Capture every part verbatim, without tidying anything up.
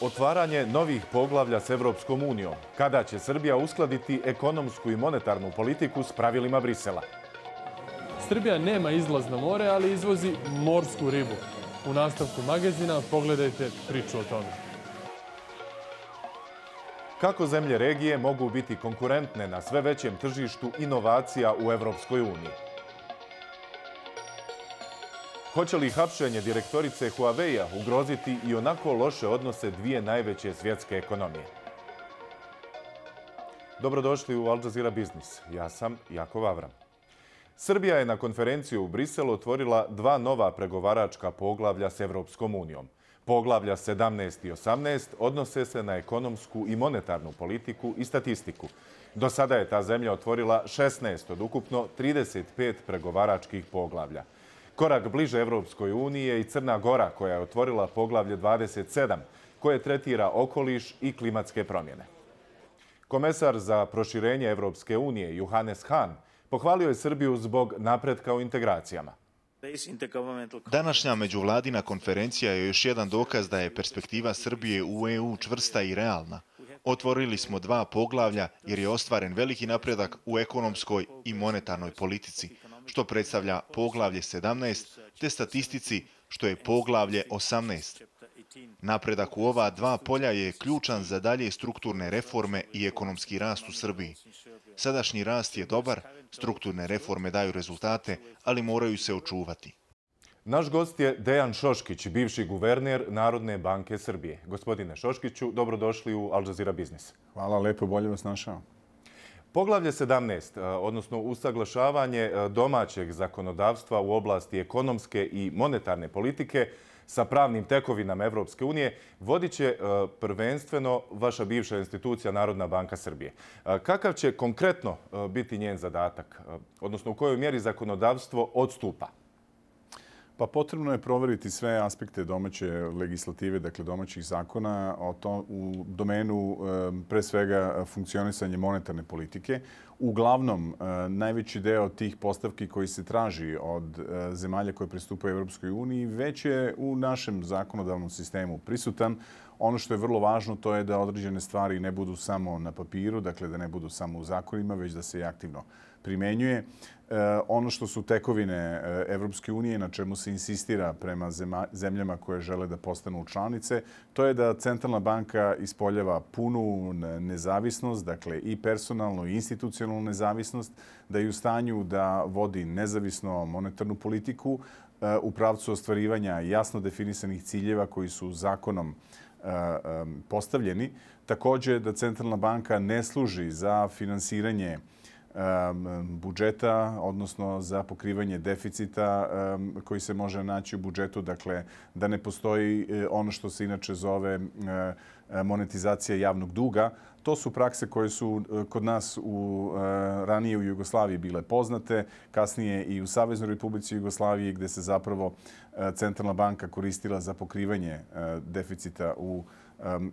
Otvaranje novih poglavlja s Evropskom unijom. Kada će Srbija uskladiti ekonomsku i monetarnu politiku s pravilima Brisela? Srbija nema izlaz na more, ali izvozi morsku ribu. U nastavku magazina pogledajte priču o tome. Kako zemlje regije mogu biti konkurentne na sve većem tržištu inovacija u Evropskoj uniji? Hoće li hapšenje direktorice Huawei-a ugroziti i onako loše odnose dvije najveće svjetske ekonomije? Dobrodošli u Al Jazeera Biznis. Ja sam Jakov Avram. Srbija je na konferenciju u Briselu otvorila dva nova pregovaračka poglavlja s Evropskom unijom. Poglavlja sedamnaest i osamnaest odnose se na ekonomsku i monetarnu politiku i statistiku. Do sada je ta zemlja otvorila šesnaest od ukupno trideset pet pregovaračkih poglavlja. Korak bliže Evropskoj uniji je i Crna Gora, koja je otvorila poglavlje dvadeset sedam, koje tretira okoliš i klimatske promjene. Komesar za proširenje Evropske unije Johannes Hahn pohvalio je Srbiju zbog napretka u integracijama. Današnja međuvladina konferencija je još jedan dokaz da je perspektiva Srbije u E U čvrsta i realna. Otvorili smo dva poglavlja jer je ostvaren veliki napredak u ekonomskoj i monetarnoj politici, što predstavlja poglavlje sedamnaest, te statistici, što je poglavlje osamnaest. Napredak u ova dva polja je ključan za dalje strukturne reforme i ekonomski rast u Srbiji. Sadašnji rast je dobar, strukturne reforme daju rezultate, ali moraju se očuvati. Naš gost je Dejan Šoškić, bivši guverner Narodne banke Srbije. Gospodine Šoškiću, dobrodošli u Al Jazeera Biznis. Hvala, lepo, bolje vas našao. Poglavlje sedamnaest, odnosno usaglašavanje domaćeg zakonodavstva u oblasti ekonomske i monetarne politike sa pravnim tekovinama Evropske unije, vodit će prvenstveno vaša bivša institucija Narodna banka Srbije. Kakav će konkretno biti njen zadatak, odnosno u kojoj mjeri zakonodavstvo odstupa? Pa potrebno je proveriti sve aspekte domaće legislative, dakle domaćih zakona u domenu pre svega funkcionisanja monetarne politike. Uglavnom, najveći deo tih postavki koji se traži od zemalja koje pristupaju Evropskoj uniji već je u našem zakonodavnom sistemu prisutan. Ono što je vrlo važno to je da određene stvari ne budu samo na papiru, dakle da ne budu samo u zakonima, već da se i aktivno primenjuje. Ono što su tekovine Evropske unije, na čemu se insistira prema zemljama koje žele da postanu članice, to je da Centralna banka ispoljava punu nezavisnost, dakle i personalnu i institucionalnu nezavisnost, da je u stanju da vodi nezavisno monetarnu politiku u pravcu ostvarivanja jasno definisanih ciljeva koji su zakonom postavljeni. Također da Centralna banka ne služi za finansiranje budžeta, odnosno za pokrivanje deficita koji se može naći u budžetu, dakle da ne postoji ono što se inače zove monetizacija javnog duga. To su prakse koje su kod nas u, ranije u Jugoslaviji bile poznate, kasnije i u Saveznoj Republici Jugoslaviji gdje se zapravo Centralna banka koristila za pokrivanje deficita u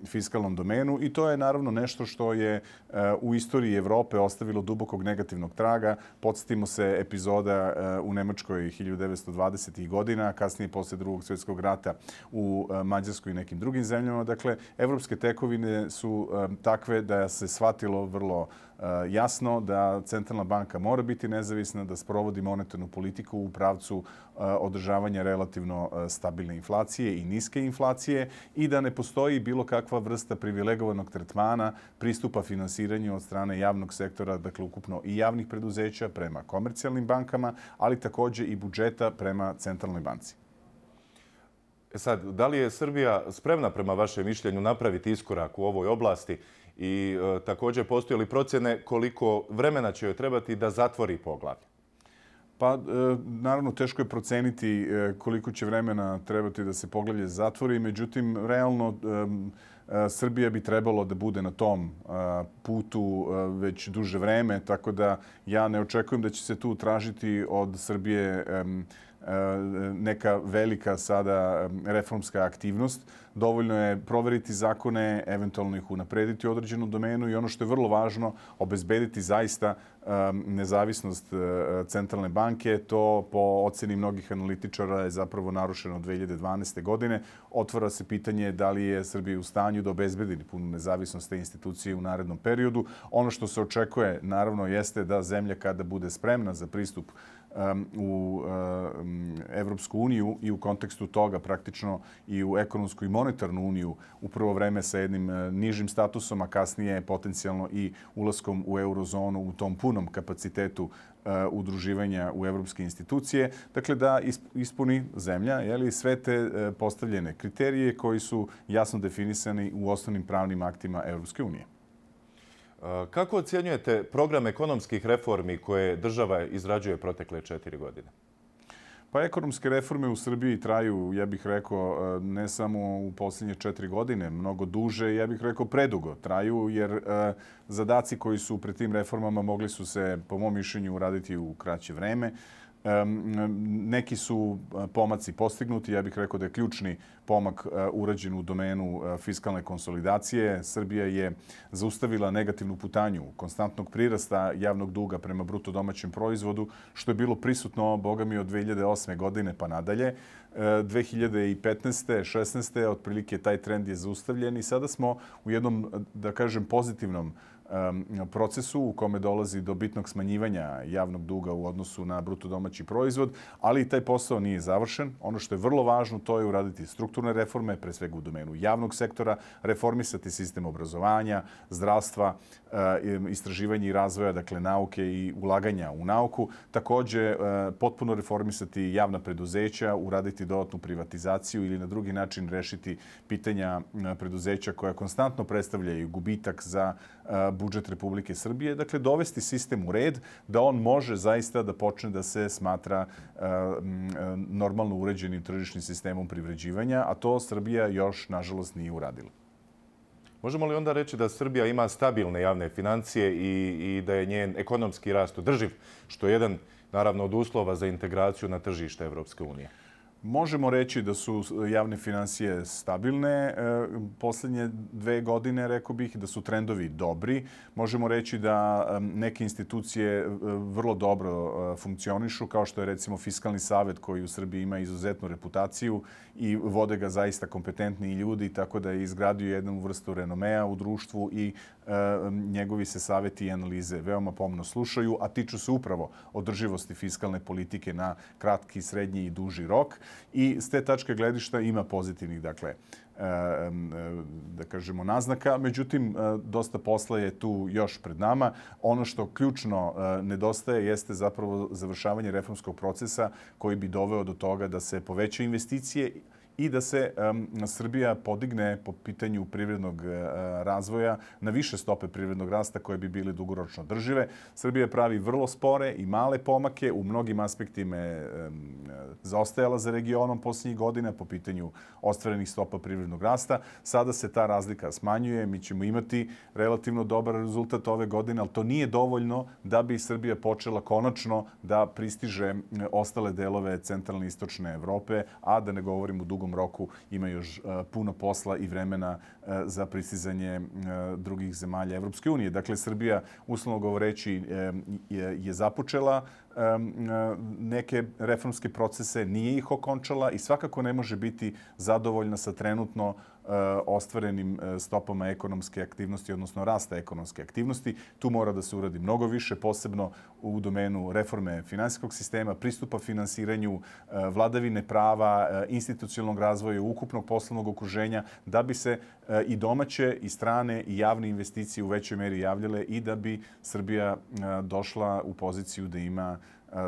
fiskalnom domenu i to je naravno nešto što je u istoriji Evrope ostavilo dubokog negativnog traga. Podsjetimo se epizoda u Nemačkoj hiljadu devetsto dvadesetih godina, kasnije posle Drugog svjetskog rata u Mađarskoj i nekim drugim zemljama. Dakle, evropske tekovine su takve da se shvatilo vrlo jasno da Centralna banka mora biti nezavisna, da sprovodi monetarnu politiku u pravcu održavanja relativno stabilne inflacije i niske inflacije i da ne postoji bilo kakva vrsta privilegovanog tretmana pristupa finansiranju od strane javnog sektora, dakle ukupno i javnih preduzeća prema komercijalnim bankama, ali također i budžeta prema Centralnoj banci. E sad, da li je Srbija spremna prema vašem mišljenju napraviti iskorak u ovoj oblasti i e, također postoje li procjene koliko vremena će joj trebati da zatvori poglavlje? Pa, e, naravno, teško je proceniti e, koliko će vremena trebati da se poglavlje zatvori. Međutim, realno, e, e, Srbija bi trebalo da bude na tom e, putu e, već duže vreme, tako da ja ne očekujem da će se tu tražiti od Srbije e, neka velika sada reformska aktivnost. Dovoljno je proveriti zakone, eventualno ih unaprediti u određenu domenu i ono što je vrlo važno, obezbediti zaista nezavisnost centralne banke. To po oceni mnogih analitičara je zapravo narušeno od dve hiljade dvanaeste. godine. Otvara se pitanje da li je Srbija u stanju da obezbedi punu nezavisnost te institucije u narednom periodu. Ono što se očekuje, naravno, jeste da zemlja kada bude spremna za pristup u Evropsku uniju i u kontekstu toga praktično i u ekonomsku i monetarnu uniju u prvo vreme sa jednim nižim statusom, a kasnije potencijalno i ulaskom u eurozonu u tom punom kapacitetu udruživanja u evropske institucije. Dakle, da ispuni zemlja sve te postavljene kriterije koji su jasno definisani u osnovnim pravnim aktima Evropske unije. Kako ocjenjujete program ekonomskih reformi koje država izrađuje protekle četiri godine? Pa ekonomske reforme u Srbiji traju, ja bih rekao, ne samo u posljednje četiri godine, mnogo duže, ja bih rekao predugo traju, jer zadaci koji su pred tim reformama mogli su se, po mom mišljenju, uraditi u kraće vreme. Neki su pomaci postignuti. Ja bih rekao da je ključni pomak urađen u domenu fiskalne konsolidacije. Srbija je zaustavila negativnu putanju konstantnog prirasta javnog duga prema bruto domaćem proizvodu, što je bilo prisutno, boga mi, od dve hiljade osme. godine pa nadalje. dve hiljade petnaeste. šesnaeste. otprilike taj trend je zaustavljen i sada smo u jednom, da kažem, pozitivnom procesu u kome dolazi do bitnog smanjivanja javnog duga u odnosu na bruto domaći proizvod, ali i taj posao nije završen. Ono što je vrlo važno, to je uraditi strukturne reforme, pre svega u domenu javnog sektora, reformisati sistem obrazovanja, zdravstva, istraživanja i razvoja, dakle nauke i ulaganja u nauku. Takođe, potpuno reformisati javna preduzeća, uraditi dodatnu privatizaciju ili na drugi način rešiti pitanja preduzeća koja konstantno predstavljaju gubitak za budžet Republike Srbije. Dakle, dovesti sistem u red da on može zaista da počne da se smatra normalno uređenim tržišnim sistemom privređivanja, a to Srbija još, nažalost, nije uradila. Možemo li onda reći da Srbija ima stabilne javne financije i da je njen ekonomski rast održiv, što je jedan, naravno, od uslova za integraciju na tržište Evropske unije? Možemo reći da su javne finansije stabilne posljednje dve godine, rekao bih, da su trendovi dobri. Možemo reći da neke institucije vrlo dobro funkcionišu, kao što je recimo Fiskalni savet koji u Srbiji ima izuzetnu reputaciju i vode ga zaista kompetentni ljudi, tako da je izgradio jednu vrstu renomea u društvu i njegovi se saveti i analize veoma pomno slušaju, a tiču se upravo održivosti fiskalne politike na kratki, srednji i duži rok. I s te tačke gledišta ima pozitivnih, dakle, da kažemo, naznaka. Međutim, dosta posla je tu još pred nama. Ono što ključno nedostaje jeste zapravo završavanje reformskog procesa koji bi doveo do toga da se poveća investicije i da se Srbija podigne po pitanju privrednog razvoja na više stope privrednog rasta koje bi bile dugoročno držive. Srbija pravi vrlo spore i male pomake. U mnogim aspektima je zaostajala za regionom posljednjih godina po pitanju ostvarenih stopa privrednog rasta. Sada se ta razlika smanjuje. Mi ćemo imati relativno dobar rezultat ove godine, ali to nije dovoljno da bi Srbija počela konačno da pristiže ostale delove centralne i istočne Evrope, a da ne govorim u dugom roku ima još puno posla i vremena za pristizanje drugih zemalja Evropske unije. Dakle, Srbija, uslovno govoreći, je započela neke reformske procese, nije ih okončala i svakako ne može biti zadovoljna sa trenutno ostvarenim stopama ekonomske aktivnosti, odnosno rasta ekonomske aktivnosti. Tu mora da se uradi mnogo više, posebno u domenu reforme finansijskog sistema, pristupa finansiranju, vladavine prava, institucionalnog razvoja, ukupnog poslovnog okruženja, da bi se i domaće i strane i javne investicije u većoj meri javljale i da bi Srbija došla u poziciju da ima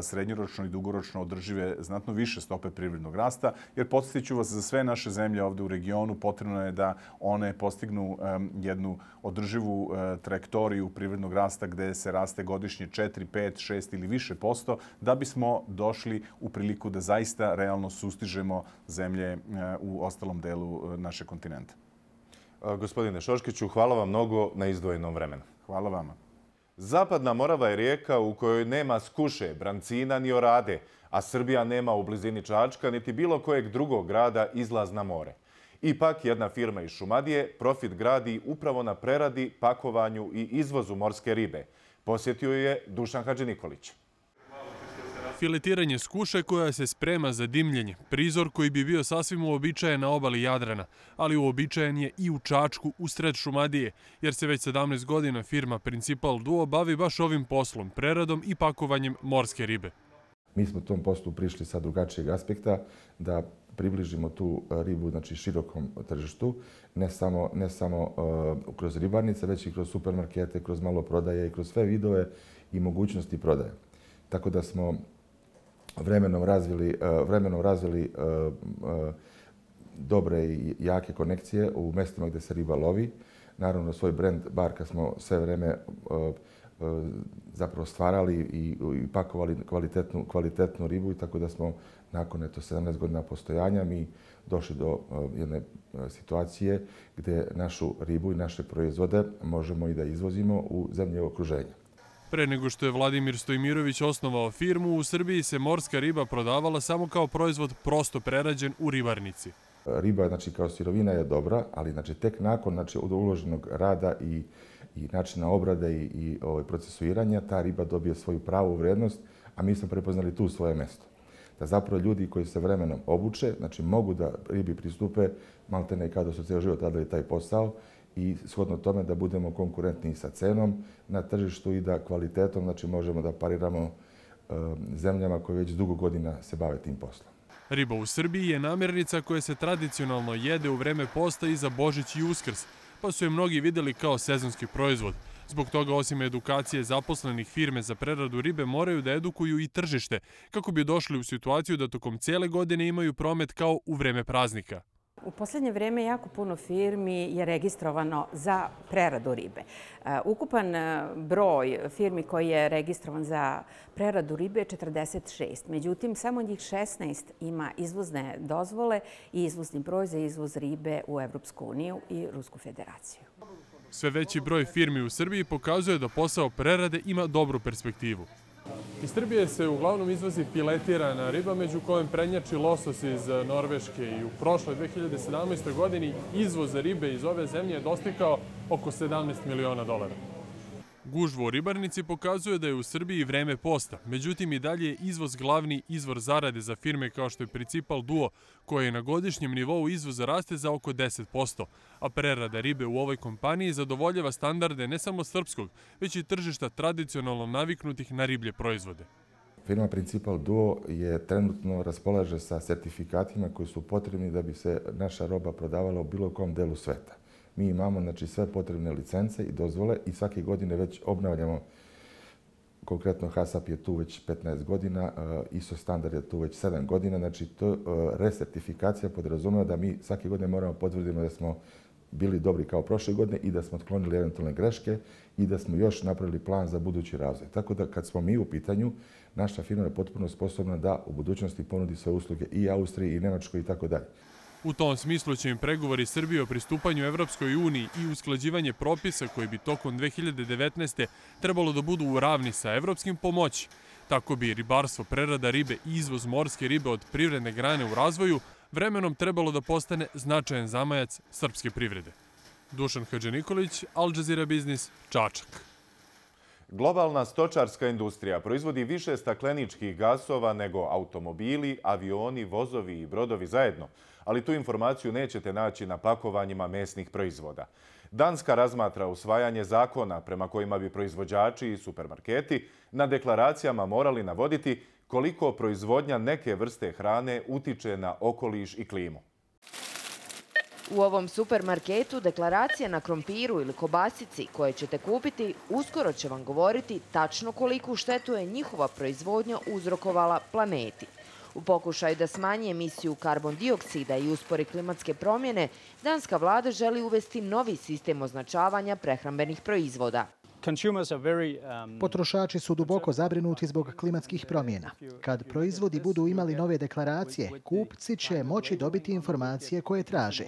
srednjoročno i dugoročno održive znatno više stope privrednog rasta, jer podsjetiću vas, za sve naše zemlje ovde u regionu potrebno je da one postignu jednu održivu trajektoriju privrednog rasta gde se raste godišnje četiri, pet, šest ili više posto, da bismo došli u priliku da zaista realno sustižemo zemlje u ostalom delu našeg kontinenta. Gospodine Šoškiću, hvala vam mnogo na izdvojenom vremenu. Hvala vama. Zapadna Morava je rijeka u kojoj nema Skuše, Brancina ni Orade, a Srbija nema u blizini Čačka niti bilo kojeg drugog grada izlaz na more. Ipak jedna firma iz Šumadije profit gradi upravo na preradi, pakovanju i izvozu morske ribe. Posjetio je Dušan Hadžinikolić. Filetiranje skuše koja se sprema za dimljenje, prizor koji bi bio sasvim uobičajen na obali Jadrana, ali uobičajen je i u Čačku, usred Šumadije, jer se već sedamnaest godina firma Principal Duo bavi baš ovim poslom, preradom i pakovanjem morske ribe. Mi smo tom poslu prišli sa drugačijeg aspekta da približimo tu ribu, znači, širokom tržištu, ne samo, ne samo uh, kroz ribarnice, već i kroz supermarkete, kroz maloprodaje i kroz sve vidove i mogućnosti prodaje. Tako da smo vremenom razvili, uh, vremenom razvili uh, uh, dobre i jake konekcije u mjestima gdje se riba lovi. Naravno, svoj brand Barka smo sve vreme uh, zapravo stvarali i, i pakovali kvalitetnu, kvalitetnu ribu, i tako da smo nakon eto, sedamnaest godina postojanja mi došli do uh, jedne uh, situacije gdje našu ribu i naše proizvode možemo i da izvozimo u zemlje okruženja. Pre nego što je Vladimir Stojmirović osnovao firmu, u Srbiji se morska riba prodavala samo kao proizvod prosto prerađen u ribarnici. Riba, znači, kao sirovina je dobra, ali, znači, tek nakon, znači, od uloženog rada i i načina obrade i, i ovaj, procesuiranja, ta riba dobije svoju pravu vrednost, a mi smo prepoznali tu svoje mjesto. Da zapravo ljudi koji se vremenom obuče, znači mogu da ribi pristupe, maltene i kada su cijel život radili taj posao, i shodno tome da budemo konkurentni sa cenom na tržištu i da kvalitetom, znači, možemo da pariramo um, zemljama koje već dugo godina se bave tim poslom. Riba u Srbiji je namirnica koja se tradicionalno jede u vreme posta i za Božić i Uskrs, pa su je mnogi vidjeli kao sezonski proizvod. Zbog toga, osim edukacije zaposlenih firme za preradu ribe, moraju da edukuju i tržište, kako bi došli u situaciju da tokom cijele godine imaju promet kao u vreme praznika. U posljednje vrijeme jako puno firmi je registrovano za preradu ribe. Ukupan broj firmi koji je registrovan za preradu ribe je četrdeset šest. Međutim, samo njih šesnaest ima izvozne dozvole i izvozni broj za izvoz ribe u Evropsku uniju i Rusku federaciju. Sve veći broj firmi u Srbiji pokazuje da posao prerade ima dobru perspektivu. Iz Srbije se uglavnom izvozi filetirana riba, među kojom prednjači losos iz Norveške, i u prošloj dve hiljade sedamnaestoj. godini izvoz ribe iz ove zemlje je dostigao oko sedamnaest miliona dolara. Gužva u ribarnici pokazuje da je u Srbiji vreme posta, međutim i dalje je izvoz glavni izvor zarade za firme kao što je Principal Duo, koje na godišnjem nivou izvoza raste za oko deset posto, a prerada ribe u ovoj kompaniji zadovoljava standarde ne samo srpskog, već i tržišta tradicionalno naviknutih na riblje proizvode. Firma Principal Duo je trenutno raspolaže sa sertifikatima koji su potrebni da bi se naša roba prodavala u bilo kom delu sveta. Mi imamo, znači, sve potrebne licence i dozvole i svake godine već obnavljamo. Konkretno HASAP je tu već petnaest godina, I S O standard je tu već sedam godina. Znači, to resertifikacija podrazumeva da mi svake godine moramo potvrditi da smo bili dobri kao prošle godine i da smo otklonili eventualne greške i da smo još napravili plan za budući razvoj. Tako da kad smo mi u pitanju, naša firma je potpuno sposobna da u budućnosti ponudi svoje usluge i Austriji i Nemačkoj i tako dalje. U tom smislu će im pregovori Srbije o pristupanju Evropskoj uniji i usklađivanje propisa koji bi tokom dve hiljade devetnaeste. trebalo da budu u ravni sa evropskim pomoći. Tako bi ribarstvo, prerada ribe i izvoz morske ribe od privredne grane u razvoju vremenom trebalo da postane značajan zamajac srpske privrede. Dušan Hadžinikolić, Al Jazeera Biznis, Čačak. Globalna stočarska industrija proizvodi više stakleničkih gasova nego automobili, avioni, vozovi i brodovi zajedno, ali tu informaciju nećete naći na pakovanjima mesnih proizvoda. Danska razmatra usvajanje zakona prema kojima bi proizvođači i supermarketi na deklaracijama morali navoditi koliko proizvodnja neke vrste hrane utiče na okoliš i klimu. U ovom supermarketu deklaracija na krompiru ili kobasici koje ćete kupiti uskoro će vam govoriti tačno koliku štetu je njihova proizvodnja uzrokovala planeti. U pokušaju da smanji emisiju karbon dioksida i uspori klimatske promjene, danska vlada želi uvesti novi sistem označavanja prehrambenih proizvoda. Potrošači su duboko zabrinuti zbog klimatskih promjena. Kad proizvodi budu imali nove deklaracije, kupci će moći dobiti informacije koje traže.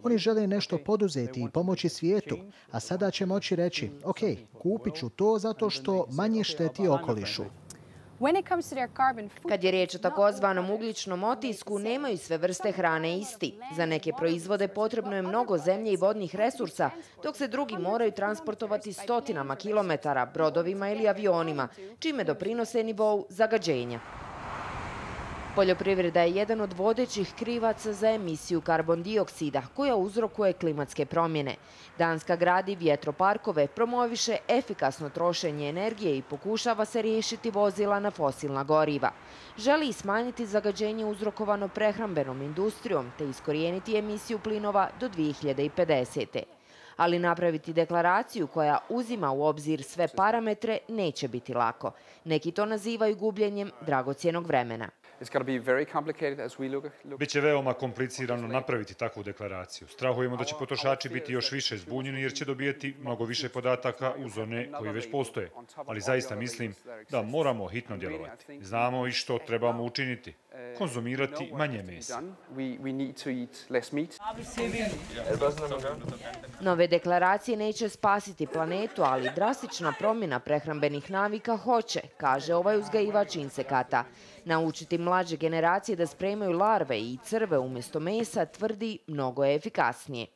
Oni žele nešto poduzeti i pomoći svijetu, a sada će moći reći, ok, kupit ću to zato što manje šteti okolišu. Kad je riječ o takozvanom ugljičnom otisku, nemaju sve vrste hrane isti. Za neke proizvode potrebno je mnogo zemlje i vodnih resursa, dok se drugi moraju transportovati stotinama kilometara, brodovima ili avionima, čime doprinose nivou zagađenja. Poljoprivreda je jedan od vodećih krivaca za emisiju karbon dioksida, koja uzrokuje klimatske promjene. Danska gradi vjetroparkove, promoviše efikasno trošenje energije i pokušava se riješiti vozila na fosilna goriva. Želi i smanjiti zagađenje uzrokovano prehrambenom industrijom te iskorijeniti emisiju plinova do dvije hiljade pedesete. Ali napraviti deklaraciju koja uzima u obzir sve parametre neće biti lako. Neki to nazivaju gubljenjem dragocjenog vremena. Biće veoma komplicirano napraviti takvu deklaraciju. Strahujemo da će potrošači biti još više zbunjeni jer će dobijeti mnogo više podataka uz one koji već postoje. Ali zaista mislim da moramo hitno djelovati. Znamo i što trebamo učiniti. Konzumirati manje mesa. Nove deklaracije neće spasiti planetu, ali drastična promjena prehrambenih navika hoće, kaže ovaj uzgajivač insekata. Naučiti mlađe generacije da spremaju larve i crve umjesto mesa tvrdi mnogo je efikasnije.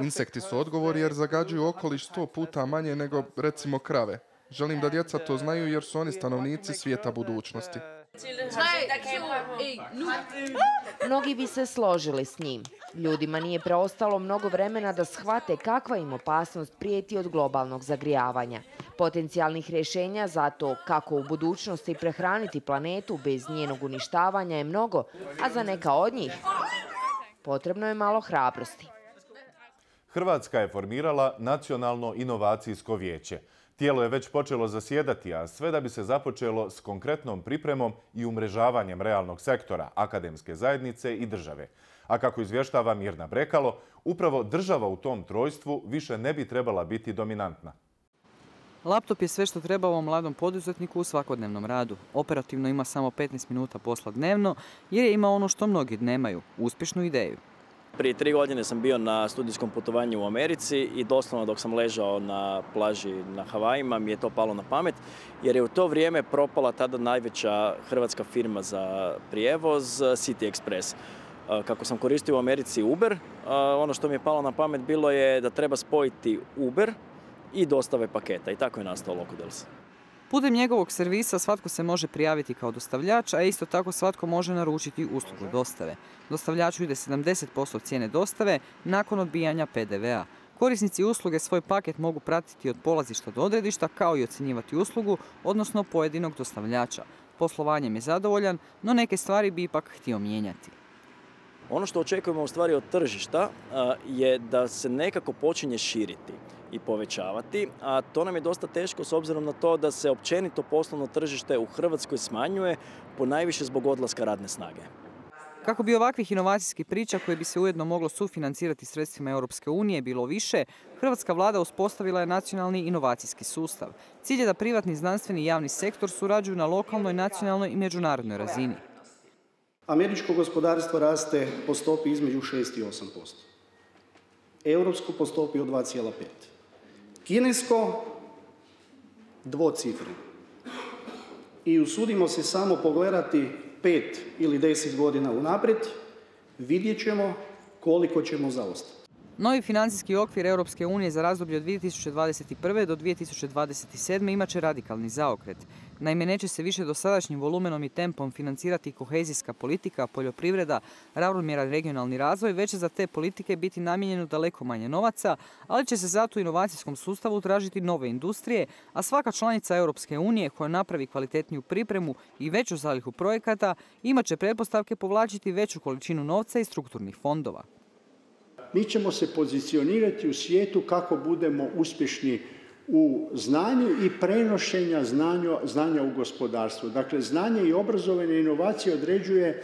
Insekti su odgovor jer zagađuju okoliš sto puta manje nego, recimo, krave. Želim da djeca to znaju jer su oni stanovnici svijeta budućnosti. Mnogi bi se složili s njim. Ljudima nije preostalo mnogo vremena da shvate kakva im opasnost prijeti od globalnog zagrijavanja. Potencijalnih rješenja za to kako u budućnosti prehraniti planetu bez njenog uništavanja je mnogo, a za neka od njih potrebno je malo hrabrosti. Hrvatska je formirala Nacionalno inovacijsko vijeće. Tijelo je već počelo zasjedati, a sve da bi se započelo s konkretnom pripremom i umrežavanjem realnog sektora, akademske zajednice i države. A kako izvještava Mirna Brekalo, upravo država u tom trojstvu više ne bi trebala biti dominantna. Laptop je sve što treba ovom mladom poduzetniku u svakodnevnom radu. Operativno ima samo petnaest minuta posla dnevno jer je imao ono što mnogi nemaju, uspješnu ideju. Prije tri godine sam bio na studijskom putovanju u Americi i doslovno dok sam ležao na plaži na Havajima mi je to palo na pamet jer je u to vrijeme propala tada najveća hrvatska firma za prijevoz City Express. Kako sam koristio u Americi Uber, ono što mi je palo na pamet bilo je da treba spojiti Uber i dostave paketa i tako je nastao Locodels. Putem njegovog servisa svatko se može prijaviti kao dostavljač, a isto tako svatko može naručiti uslugu dostave. Dostavljaču ide sedamdeset posto cijene dostave nakon odbijanja pe de ve a. Korisnici usluge svoj paket mogu pratiti od polazišta do odredišta kao i ocjenjivati uslugu, odnosno pojedinog dostavljača. Poslovanjem je zadovoljan, no neke stvari bi ipak htio mijenjati. Ono što očekujemo u stvari od tržišta je da se nekako počinje širiti i povećavati, a to nam je dosta teško s obzirom na to da se općenito poslovno tržište u Hrvatskoj smanjuje, ponajviše zbog odlaska radne snage. Kako bi ovakvih inovacijskih priča koje bi se ujedno moglo sufinancirati sredstvima Europske unije bilo više, hrvatska vlada uspostavila je nacionalni inovacijski sustav. Cilj je da privatni, znanstveni i javni sektor surađuju na lokalnoj, nacionalnoj i međunarodnoj razini. Američko gospodarstvo raste po stopi između šest i osam posto. Europsko po stopi od dva zarez pet. Kinesko dvocifreno. I usudimo se samo pogledati pet ili deset godina unaprijed, vidjet ćemo koliko ćemo zaostati. Novi financijski okvir Europske unije za razdoblje od dvije tisuće dvadeset prve do dvije tisuće dvadeset sedme imat će radikalni zaokret. Naime, neće se više dosadašnjim volumenom i tempom financirati kohezijska politika, poljoprivreda, ravnomjeran regionalni razvoj, već će za te politike biti namijenjeno daleko manje novaca, ali će se zato u inovacijskom sustavu tražiti nove industrije, a svaka članica Europske unije koja napravi kvalitetniju pripremu i veću zalihu projekata imat će pretpostavke povlačiti veću količinu novca iz strukturnih fondova. Mi ćemo se pozicionirati u svijetu kako budemo uspješni u znanju i prenošenja znanja, znanja u gospodarstvu. Dakle, znanje i obrazovanje i inovacije određuje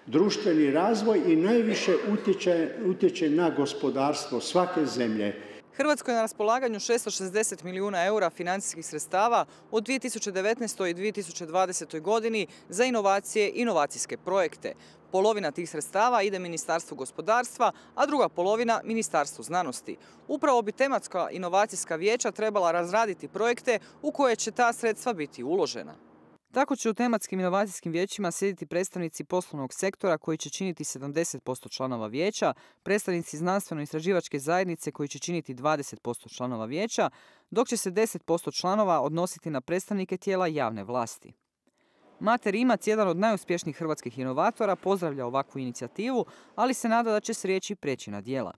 društveni razvoj i najviše utječe, utječe na gospodarstvo svake zemlje. Hrvatskoj je na raspolaganju šesto šezdeset milijuna eura financijskih sredstava od dvije tisuće devetnaestoj. i dvije tisuće dvadesetoj. godini za inovacije i inovacijske projekte. Polovina tih sredstava ide Ministarstvu gospodarstva, a druga polovina Ministarstvu znanosti. Upravo bi tematska inovacijska vijeća trebala razraditi projekte u koje će ta sredstva biti uložena. Tako će u tematskim inovacijskim vijećima sjediti predstavnici poslovnog sektora koji će činiti sedamdeset posto članova vijeća, predstavnici znanstveno-istraživačke zajednice koji će činiti dvadeset posto članova vijeća, dok će se deset posto članova odnositi na predstavnike tijela javne vlasti. Mate Rimac, jedan od najuspješnijih hrvatskih inovatora, pozdravlja ovakvu inicijativu, ali se nada da će s riječi preći na djela.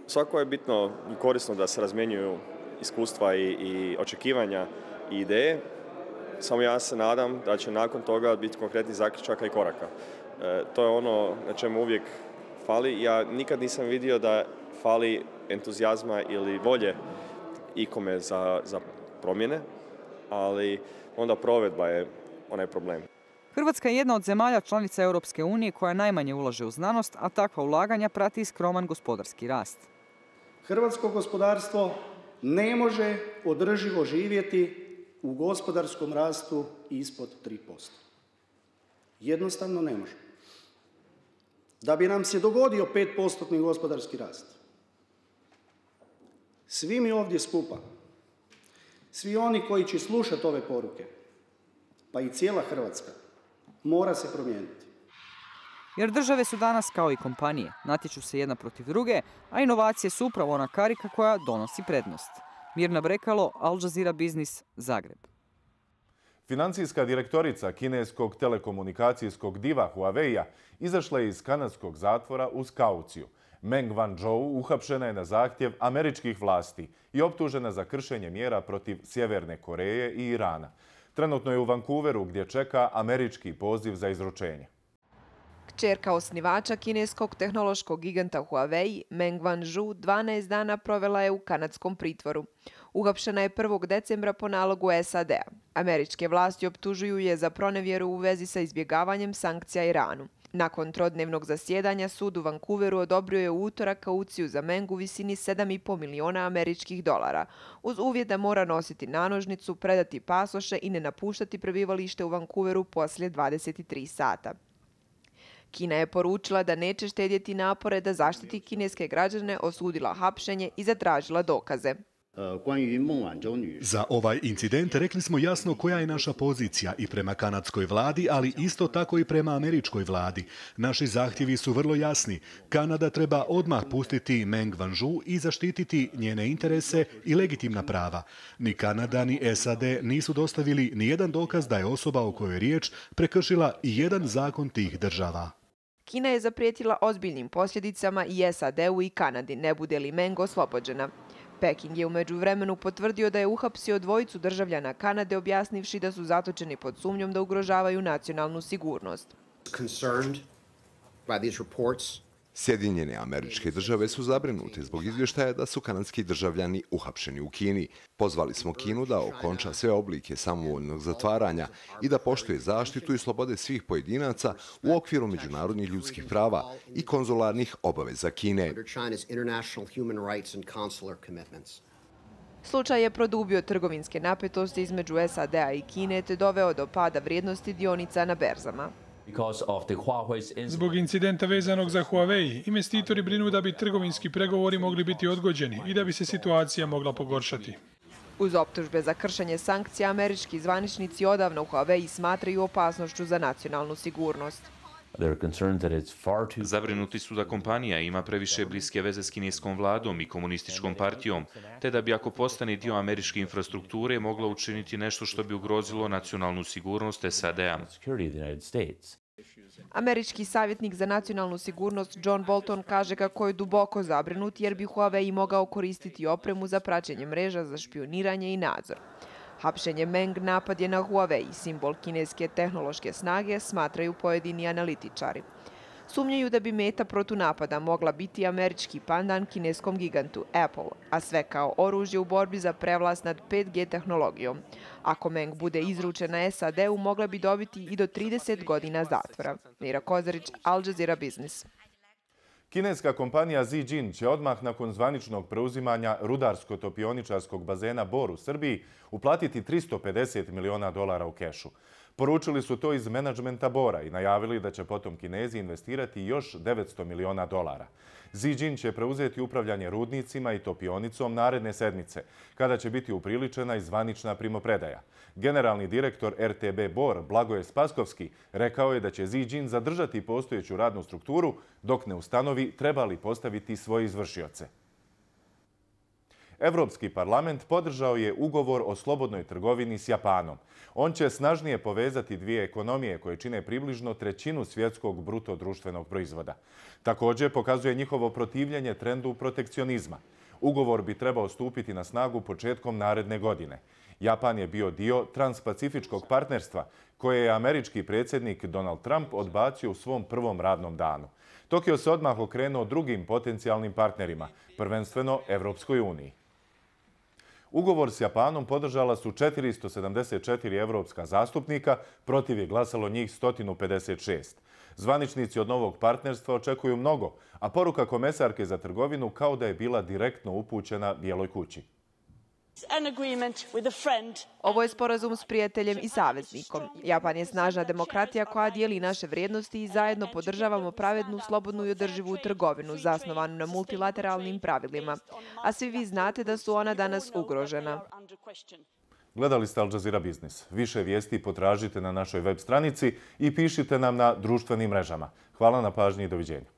Svako je bitno i korisno da se razmjenjuju iskustva i, i očekivanja i ideje. Samo ja se nadam da će nakon toga biti konkretnih zaključaka i koraka. E, to je ono na čemu uvijek fali. Ja nikad nisam vidio da fali entuzijazma ili volje ikome za, za promjene, ali onda provedba je onaj problem. Hrvatska je jedna od zemalja članica Europske unije koja najmanje ulaže u znanost, a takva ulaganja prati i skroman gospodarski rast. Hrvatsko gospodarstvo ne može održivo živjeti u gospodarskom rastu ispod tri posto. Jednostavno ne može. Da bi nam se dogodio pet posto gospodarski rast, svi mi ovdje skupa, svi oni koji će slušati ove poruke, pa i cijela Hrvatska, mora se promijeniti. Jer države su danas kao i kompanije, natječu se jedna protiv druge, a inovacije su upravo ona karika koja donosi prednost. Mirna Brekalo, Al Jazeera Biznis, Zagreb. Financijska direktorica kineskog telekomunikacijskog diva Huawei-a izašla je iz kanadskog zatvora uz kauciju. Meng Wanzhou uhapšena je na zahtjev američkih vlasti i optužena za kršenje mjera protiv Sjeverne Koreje i Irana. Trenutno je u Vancouveru gdje čeka američki poziv za izručenje. Kćerka osnivača kineskog tehnološkog giganta Huawei, Meng Wanzhou, dvanaest dana provela je u kanadskom pritvoru. Uhapšena je prvog decembra po nalogu S A D-a. Američke vlasti optužuju je za pronevjeru u vezi sa izbjegavanjem sankcija Iranu. Nakon trodnevnog zasjedanja sud u Vancouveru odobrio je u utorak kauciju za Meng u visini sedam i pol miliona američkih dolara, uz uvjet da mora nositi nanožnicu, predati pasoše i ne napuštati prebivalište u Vancouveru poslije dvadeset tri sata. Kina je poručila da neće štedjeti napore da zaštiti kineske građane, osudila hapšenje i zatražila dokaze. Za ovaj incident rekli smo jasno koja je naša pozicija i prema kanadskoj vladi, ali isto tako i prema američkoj vladi. Naši zahtjevi su vrlo jasni. Kanada treba odmah pustiti Meng Wanzhou i zaštititi njene interese i legitimna prava. Ni Kanada ni S A D nisu dostavili ni jedan dokaz da je osoba o kojoj je riječ prekršila i jedan zakon tih država. Kina je zaprijetila ozbiljnim posljedicama i S A D-u i Kanadi, ne bude li Meng oslobođena. Peking je u međuvremenu potvrdio da je uhapsio dvojicu državljana Kanade, objasnivši da su zatočeni pod sumnjom da ugrožavaju nacionalnu sigurnost. Sjedinjene Američke Države su zabrinute zbog izvještaja da su kanadski državljani uhapšeni u Kini. Pozvali smo Kinu da okonča sve oblike samovoljnog zatvaranja i da poštuje zaštitu i slobode svih pojedinaca u okviru međunarodnih ljudskih prava i konzularnih obaveza Kine. Slučaj je produbio trgovinske napetosti između S A D-a i Kine te doveo do pada vrijednosti dionica na berzama. Zbog incidenta vezanog za Huawei, investitori brinu da bi trgovinski pregovori mogli biti odgođeni i da bi se situacija mogla pogoršati. Uz optužbe za kršenje sankcija, američki zvaničnici odavno u Huawei smatraju opasnošću za nacionalnu sigurnost. Zabrinuti su da kompanija ima previše bliske veze s kineskom vladom i komunističkom partijom, te da bi ako postane dio američke infrastrukture mogla učiniti nešto što bi ugrozilo nacionalnu sigurnost S A D-a. Američki savjetnik za nacionalnu sigurnost John Bolton kaže kako je duboko zabrinut jer bi Huawei mogao koristiti opremu za praćenje mreža za špioniranje i nadzor. Hapšenje Meng napad je na Huawei, simbol kineske tehnološke snage, smatraju pojedini analitičari. Sumnjaju da bi meta protunapada mogla biti američki pandan kineskom gigantu Apple, a sve kao oružje u borbi za prevlast nad pet G tehnologijom. Ako Meng bude izručena S A D-u, mogla bi dobiti i do trideset godina zatvora. Mira Kozarić, Al Jazeera Biznis. Kineska kompanija Zijin će odmah nakon zvaničnog preuzimanja rudarsko-topioničarskog bazena Bor u Srbiji uplatiti tristo pedeset miliona dolara u kešu. Poručili su to iz menadžmenta Bora i najavili da će potom Kinezi investirati još devetsto miliona dolara. Zijin će preuzeti upravljanje rudnicima i topionicom naredne sedmice, kada će biti upriličena i zvanična primopredaja. Generalni direktor R T B Bor, Blagoje Spaskovski, rekao je da će Zijin zadržati postojeću radnu strukturu dok ne ustanovi treba li postaviti svoje izvršioce. Evropski parlament podržao je ugovor o slobodnoj trgovini s Japanom. On će snažnije povezati dvije ekonomije koje čine približno trećinu svjetskog bruto društvenog proizvoda. Također pokazuje njihovo protivljenje trendu protekcionizma. Ugovor bi trebao stupiti na snagu početkom naredne godine. Japan je bio dio transpacifičkog partnerstva koje je američki predsjednik Donald Trump odbacio u svom prvom radnom danu. Tokio se odmah okrenuo drugim potencijalnim partnerima, prvenstveno Evropskoj uniji. Ugovor s Japanom podržala su četiristo sedamdeset četiri evropska zastupnika, protiv je glasalo njih sto pedeset šest. Zvaničnici od novog partnerstva očekuju mnogo, a poruka komesarke za trgovinu kao da je bila direktno upućena Bijeloj kući. Ovo je sporazum s prijateljem i saveznikom. Japan je snažna demokratija koja dijeli naše vrijednosti i zajedno podržavamo pravednu, slobodnu i održivu trgovinu zasnovanu na multilateralnim pravilima. A svi vi znate da su ona danas ugrožena. Gledali ste Al Jazeera Biznis. Više vijesti potražite na našoj web stranici i pišite nam na društvenim mrežama. Hvala na pažnji i doviđenja.